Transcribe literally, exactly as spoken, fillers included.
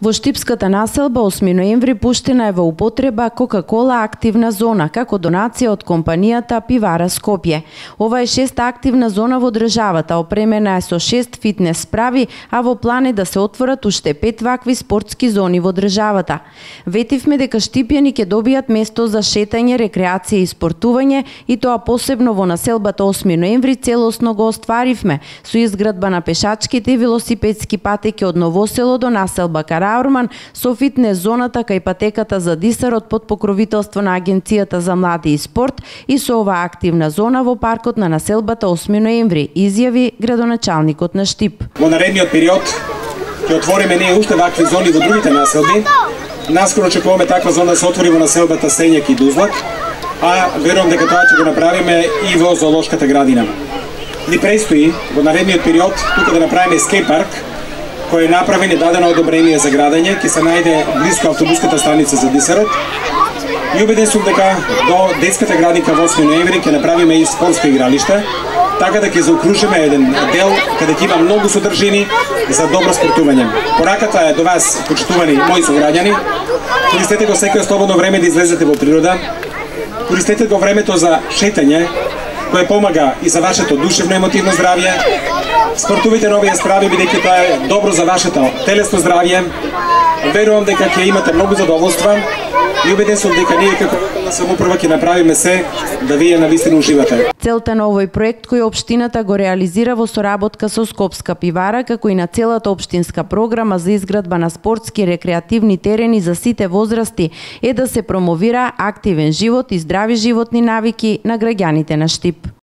Во Штипската населба осми ноември пуштена е во употреба Кока-кола активна зона како донација од компанијата Пивара Скопје. Ова е шеста активна зона во државата, опремена е со шест фитнес справи, а во план е да се отворат уште пет вакви спортски зони во државата. Ветивме дека штипјани ќе добијат место за шетање, рекреација и спортување, и тоа посебно во населбата осми ноември целосно го остваривме со изградба на пешачките и велосипедски патеки од Новосело до населба Караорман, со фитнес зоната кај патеката за дисарот под покровителство на Агенцијата за млади и спорт, и со оваа активна зона во паркот на населбата осми ноември, изјави градоначалникот на Штип. Во наредниот период ќе отвориме ние уште вакви зони во другите населби. Наскоро очекуваме таква зона да се отвори во населбата Сењак и Дузлак, а верувам дека тоа ќе го направиме и во зоолошката градина. Ни престои во наредниот период тука да направиме скејт парк, кој е направен и дадено одобрение за градење, ќе се најде близко автобуската станица за дисарот. И убеден сум дека до детската градинка во осми ноември ќе направиме и спортско игралиште, така да ќе заокружиме еден дел каде ќе има многу содржини за добро спортување. Пораката е до вас, почитувани мои сограѓани. Користете го секој слободно време да излезете во природа. Користете го времето за шетање, кое помага и за вашето душевно емотивно здравје. Спортувате на овие справи, бидејќи тоа е добро за вашето телесно здравје. Верувам дека ќе имате многу задоволства и убеден сум дека ние како локална самоуправа ќе направиме се да вие навистина уживате. Целта на овој проект кој општината го реализира во соработка со Скопска пивара, како и на целата општинска програма за изградба на спортски рекреативни терени за сите возрасти, е да се промовира активен живот и здрави животни навики на граѓаните на Штип.